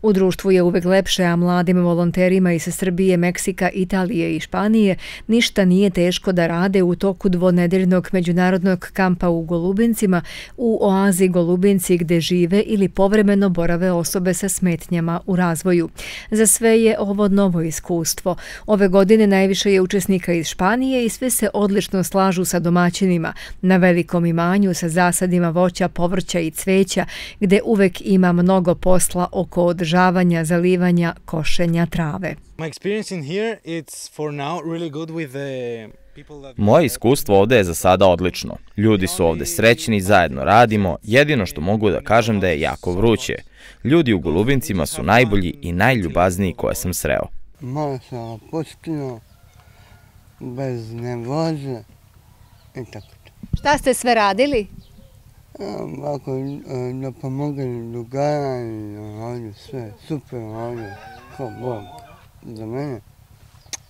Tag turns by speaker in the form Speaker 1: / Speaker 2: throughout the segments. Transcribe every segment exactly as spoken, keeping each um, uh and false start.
Speaker 1: U društvu je uvek lepše, a mladim volonterima iz Srbije, Meksika, Italije i Španije ništa nije teško da rade u toku dvonedeljnog međunarodnog kampa u Golubincima, u oazi Golubinci gde žive ili povremeno borave osobe sa smetnjama u razvoju. Za sve je ovo novo iskustvo. Ove godine najviše je učesnika iz Španije i sve se odlično slažu sa domaćinima na velikom imanju sa zasadima voća, povrća i cveća, gde uvek ima mnogo posla oko održavanja, zalivanja, košenja trave.
Speaker 2: Moje iskustvo ovdje je za sada odlično. Ljudi su ovdje srećni, zajedno radimo, jedino što mogu da kažem da je jako vruće. Ljudi u Golubincima su najbolji i najljubazniji koje sam sreo.
Speaker 3: Malo sam opustio, bez nervoze i tako.
Speaker 1: Šta ste sve radili?
Speaker 3: Ovako, da pomogli drugara i ovdje sve super, ovdje, ko Bog, za mene,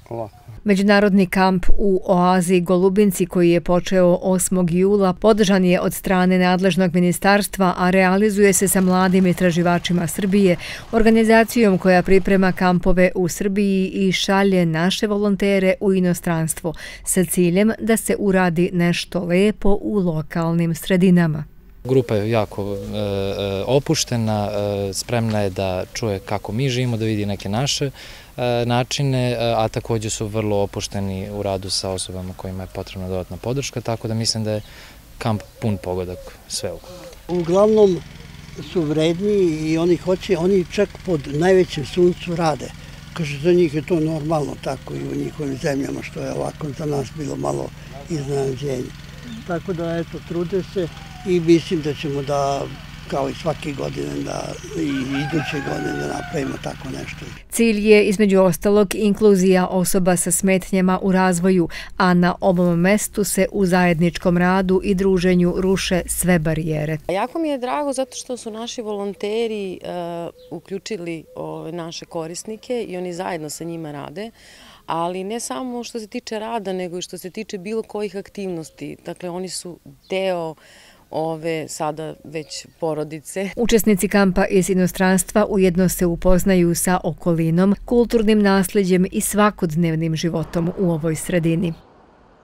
Speaker 3: ovako.
Speaker 1: Međunarodni kamp u oazi Golubinci koji je počeo osmog jula podržan je od strane nadležnog ministarstva, a realizuje se sa mladim istraživačima Srbije, organizacijom koja priprema kampove u Srbiji i šalje naše volontere u inostranstvo sa ciljem da se uradi nešto lepo u lokalnim sredinama.
Speaker 4: Grupa je jako e, opuštena, e, spremna je da čuje kako mi živimo, da vidi neke naše e, načine, a također su vrlo opušteni u radu sa osobama kojima je potrebna dodatna podrška, tako da mislim da je kamp pun pogodak sve ukupno.
Speaker 5: Uglavnom su vredni i oni hoće, oni čak pod najvećim suncu rade. Kaže, za njih je to normalno tako i u njihovim zemljama, što je ovako za nas bilo malo iznenađenje. Tako da, eto, trude se. I mislim da ćemo da, kao i svake godine, da i iduće godine da napravimo tako nešto.
Speaker 1: Cilj je između ostalog inkluzija osoba sa smetnjama u razvoju, a na ovom mestu se u zajedničkom radu i druženju ruše sve barijere.
Speaker 6: Jako mi je drago zato što su naši volonteri uh, uključili ove naše korisnike i oni zajedno sa njima rade. Ali ne samo što se tiče rada, nego i što se tiče bilo kojih aktivnosti. Dakle, oni su deo ove sada već porodice.
Speaker 1: Učesnici kampa iz inostranstva ujedno se upoznaju sa okolinom, kulturnim nasleđem i svakodnevnim životom u ovoj sredini.